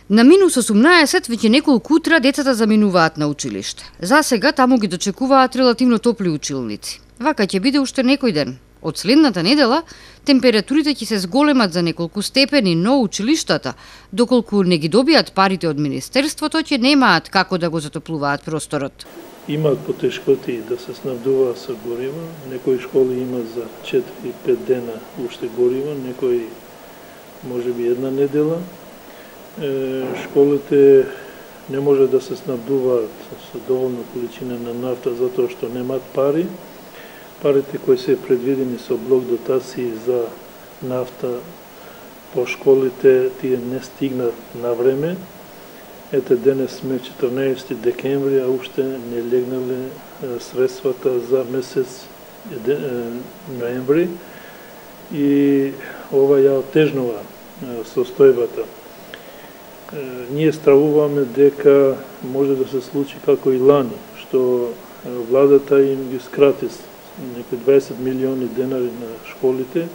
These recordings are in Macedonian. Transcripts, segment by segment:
На -18 веќе неколку утра децата заминуваат на училиште. За сега таму ги дочекуваат релативно топли училници. Вака ќе биде уште некој ден. Од следната недела температурите ќе се зголемат за неколку степени, но училиштата, доколку не ги добијат парите од Министерството, ќе немаат како да го затоплуваат просторот. Имаат потешкоти да се снабдуваат со гориво. Некои школи има за 4-5 дена уште гориво, некои можеби една недела. Школите не може да се снабдуваат со доволна количина на нафта затоа што немаат пари. Парите кои се предвидени со блок дотации за нафта по школите тие не стигнат на време. Ете денес сме 14 декември, а уште не легнале средствата за месец ноември и ова ја отежнува состојбата. Ние стравуваме дека може да се случи како и лани, што владата им ги скрати некои 20 милиони денари на школите,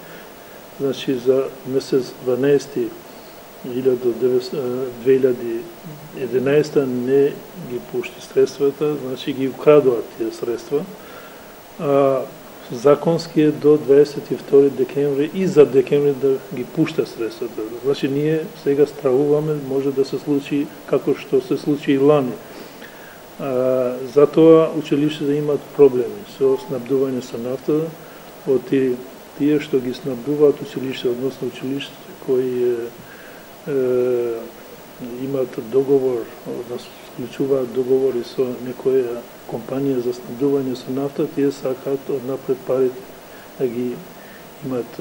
значи за месец 12 2011 не ги пушти средствата, значи ги украдуваат тие средства. Законски е до 22 декември и за декември да ги пушта средствата. Значи ние сега стравуваме, може да се случи како што се случи и лани. Затоа училиштата имаат проблеми со снабдување со нафта од тие што ги снабдуваат училишта, односно училиштата кои имаат договор, односно склучуваат договори со некоја компанија за снабдување со нафта, тие сакаат однапред парите да ги имат,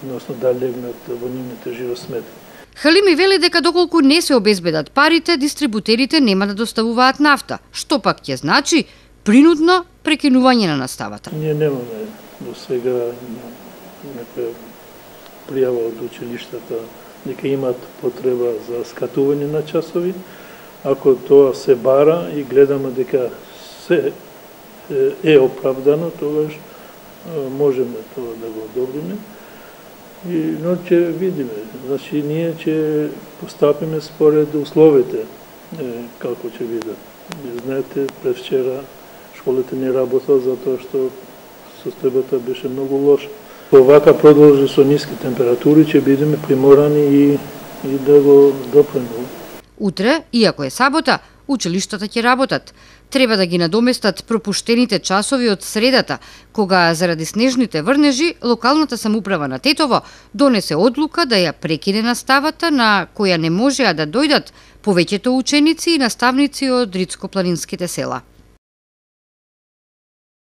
односно да легнат во нивните жиросметки. Халими вели дека доколку не се обезбедат парите, дистрибутерите нема да доставуваат нафта, што пак ќе значи принудно прекинување на наставата. Ние немаме до сега некоја пријава од училиштата дека имаат потреба за скатување на часови. Ако тоа се бара и гледаме дека се е оправдано, тогаш можеме тоа да го одобриме. Но ќе видиме. Значи, ние ќе постапиме според условите, како ќе бидат. Знаете, пред вчера школите не работат затоа што состојбата беше многу лоша. Овака продолжи со ниски температури, ќе бидеме приморани и да го допремуваме. Утре, иако е сабота, училиштата ќе работат. Треба да ги надоместат пропуштените часови од средата, кога заради снежните врнежи локалната самоуправа на Тетово донесе одлука да ја прекине наставата на која не можеа да дојдат повеќето ученици и наставници од Рицко-планинските села.